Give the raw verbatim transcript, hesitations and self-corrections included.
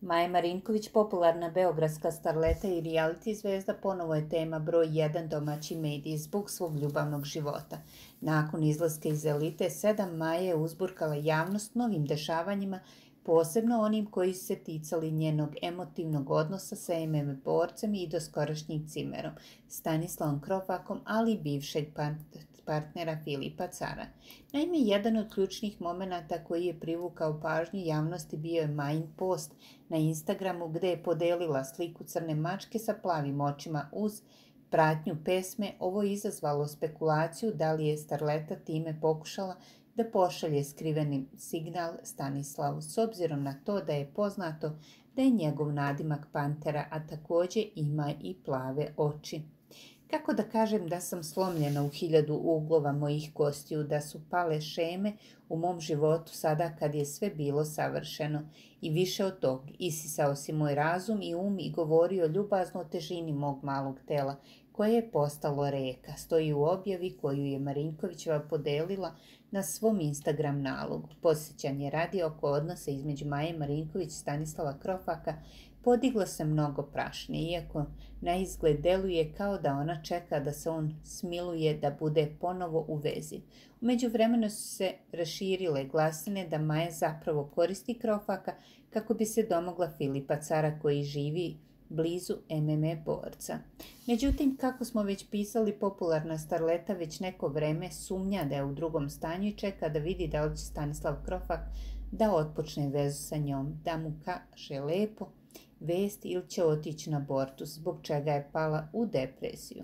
Maja Marinković, popularna beogradska starleta i reality zvezda, ponovo je tema broj jedan domaći mediji zbog svog ljubavnog života. Nakon izlaska iz elite sedam, Maja je uzburkala javnost novim dešavanjima, posebno onim koji su se ticali njenog emotivnog odnosa sa em em a borcem i doskorašnjim cimerom, Stanislavom Krofakom, ali i bivšeg partnera Filipa Cara. Naime, jedan od ključnih momenata koji je privukao pažnju javnosti bio je Majin post na Instagramu gde je podelila sliku crne mačke sa plavim očima uz pratnju pesme. Ovo je izazvalo spekulaciju da li je starleta time pokušala da pošalje skriveni signal Stanislavu, s obzirom na to da je poznato da je njegov nadimak Pantera, a takođe ima i plave oči. Kako da kažem da sam slomljena u hiljadu uglova mojih kostiju, da su pale šeme u mom životu sada kad je sve bilo savršeno. I više od tog, isisao si moj razum i um i govorio ljubazno o težini mog malog tela, koje je postalo reka, stoji u objavi koju je Marinkovićeva podelila na svom Instagram nalogu. Podsjećanje radi oko odnosa između Maje Marinković i Stanislava Krofaka podigla se mnogo prašne, iako na izgled deluje kao da ona čeka da se on smiluje da bude ponovo u vezi. U međuvremenu su se raširile glasine da Maja zapravo koristi Krofaka kako bi se domogla Filipa Cara koji živi blizu em em a borca. Međutim, kako smo već pisali, popularna starleta već neko vreme sumnja da je u drugom stanju i čeka da vidi da li će Stanislav Krofak da otpočne vezu sa njom, da mu kaže lepo vest ili će otići na abortus, zbog čega je pala u depresiju.